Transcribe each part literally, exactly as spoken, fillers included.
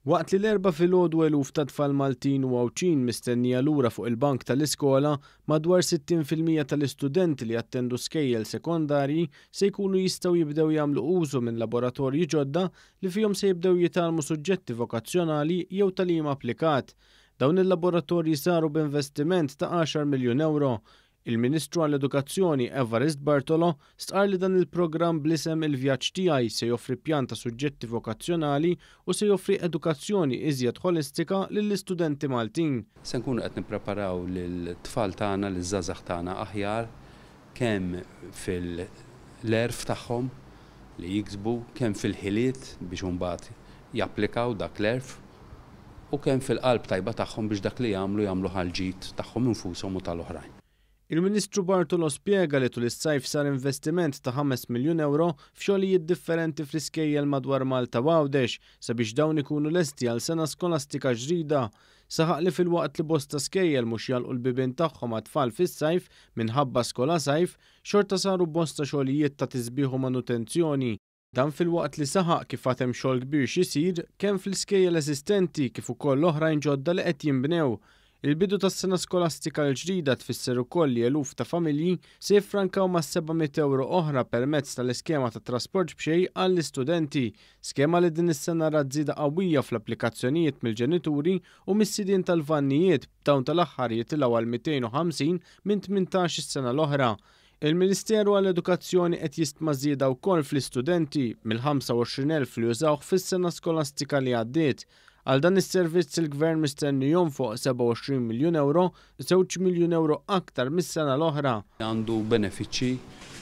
Waqt li l-Erbgħa filgħodu eluf ta' tfal Maltin u Għawdxin mistennija lura fuq il-bank tal-iskola, madwar sittin fil-mija tal-istudenti li jattendu skejjel sekondarji se jkunu jistgħu jibdew jagħmlu użu minn laboratorji ġodda li fihom se jibdew jitgħallmu suġġetti vokazzjonali jew tagħlim applikat. Dawn il-laboratorji saru b'investiment ta' għaxar miljun euro. Il-Ministru għall-Edukazzjoni Evarist Bartolo stqarr li dan il-programm bl-isem Il-Vjaġġ Tiegħi se joffri pjan ta' suġġetti vokazzjonali u se joffri edukazzjoni iżjed ħolistika lill-istudenti Maltin. Se nkunu qed nippreparaw lill-tfal tagħna, liż-żgħażagħ tagħna aħjar kemm fil-għerf tagħhom li jiksbu, kemm fil-ħiliet biex imbagħad japplikaw dak l-għerf, u kemm fil-qalb tajba tagħhom biex dak li jagħmlu jagħmlu ħalġid tagħhom infushom u tal-oħrajn. Il-Ministru Bartolo spjega li tul is-sajf sar investiment ta' ħames miljun euro f'xogħlijiet differenti fl-iskejjel madwar Malta u Għawdex sabiex dawn ikunu lesti għal sena skolastika ġdida. Saħaq li filwaqt li bosta skejjel mhux jagħlqu l-bibien tagħhom għat-tfal fis-sajf minħabba skola sajf, xorta saru bosta xogħlijiet ta' tisbiħ u manutenzjoni. Dan filwaqt li saħaq kif għad hemm xogħol kbir x'isir kemm fl-iskejjel eżistenti kif ukoll oħrajn ġodda li qed jinbnew. Il-bidu tas-sena skolastika l-ġdida tfisser ukoll li eluf ta' familji se jiffrankaw ma' seba' mitt euro oħra permezz tal-iskema ta' trasport b'xejn għall-istudenti, skema li din is-sena rat żieda qawwija fl-applikazzjonijiet mill-ġenituri u mis-sidien tal-vannijiet, b'dawn tal-aħħar jitilgħu għal mitejn u ħamsin minn tmintax is-sena l-oħra. Il-Ministeru għall-Edukazzjoni qed jistma żieda wkoll fl-istudenti mill-ħamsa u għoxrin elf li użawh fis-sena skolastika li għaddiet. Għal dan is-servizz il-Gvern mistenni jonfoq sebgħa u għoxrin miljun euro, żewġ miljun euro aktar mis-sena l-oħra. Għandu benefiċċji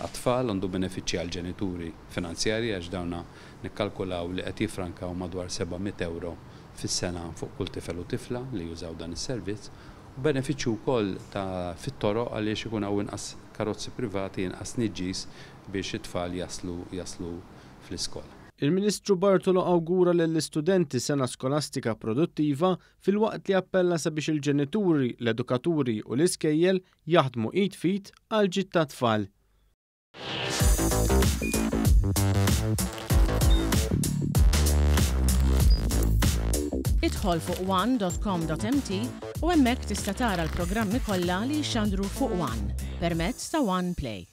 għat-tfal, għandu benefiċċji għall-ġenituri finanzjarji għax dawna nikkalkulaw li qed jiffrankaw madwar seba' mitt euro fis-sena fuq kull tifel u tifla li jużaw dan is-servizz. U benefiċċju wkoll ta' fit-toroq għaliex ikun hawn inqas karozzi privati, inqas tniġġis biex it-tfal jaslu, jaslu fl-iskola. Il-Ministru Bartolo awgura lill-istudenti sena skolastika produttiva filwaqt li appella sabiex il-ġenituri, l-edukaturi u l-iskejjel jaħdmu id f'id għal ġid tat-tfal. Idħol fuq one dot com dot M T u hemmhekk tista' tara l-programmi kollha li jixxandru fuq One permezz ta' One Play.